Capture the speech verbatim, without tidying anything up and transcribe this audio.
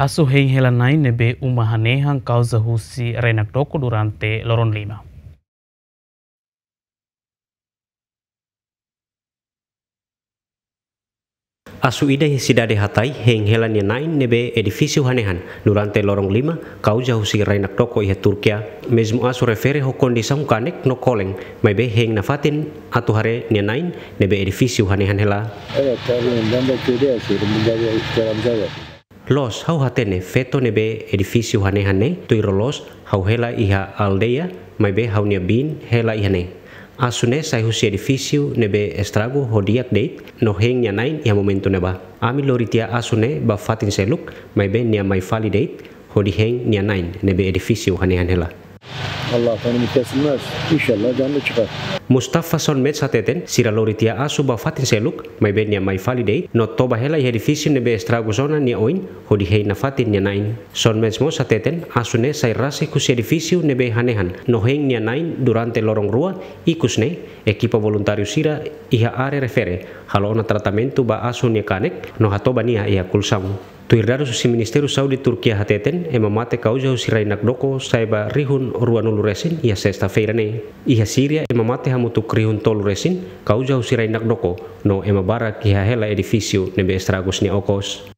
Asu hein hela na'in ne'ebé uma hanehan kauza husi rai-nakdoko durante loron lima. Asu ida iha sidade Hatay hein hela nia na'in ne'ebé edifísiu hanehan durante loron lima, kauza husi rai-nakdoko iha Turkia. Mezmu asu refere ho kondisaun kanek no kolen, maibé hein nafatin atu haree nia na'in ne'ebé edifísiu hanehan hela. Evet, tabii, ben de köyde yaşıyorum. Burada bir keremza var. Loos, ha'u hatene feto ne'ebé edifísiu hanehan ne'e, tuir loloos ha'u hela iha aldeia, maibé ha'u-nia biin hela iha ne'e. Asu ne'e sai husi edifísiu ne'ebé estragu ho di'ak de'it, no hein nia na'in iha momentu ne'ebá. Ami lori tiha asu ne'e ba fatin seluk, maibé nia mai fali de'it, hodi hein nia na'in ne'ebé edifísiu hanehan hela. Allah Teala kesilmez. İnşallah canlı çıkar. Mustafa Sonmez hateten, sira lori tiha asu ba fatin seluk, maibé nia mai fali de'it, no toba hela iha edifísiu ne'ebé estragu ona nia oin, hodi hein nafatin nia na'in. Sonmez mós hateten, asu ne'e sai rasik husi edifísiu ne'ebé hanehan, no hein nia na'in durante loron rua, ikus ne'e, ekipa voluntáriu sira iha área refere, halo ona tratamentu ba asu nia kanek, no hatoba nia iha kolxaun. Tuir dadus husi Ministériu Saúde Turkia hateten, ema mate kauza husi rai-nakdoko sai ba rihun ruanulu resin iha sesta-feira ne'e. Iha Síria, ema mate hamutuk rihun tolu resin kauza husi rai-nakdoko, no ema barak iha hela edifísiu ne'ebé estragus nia okos.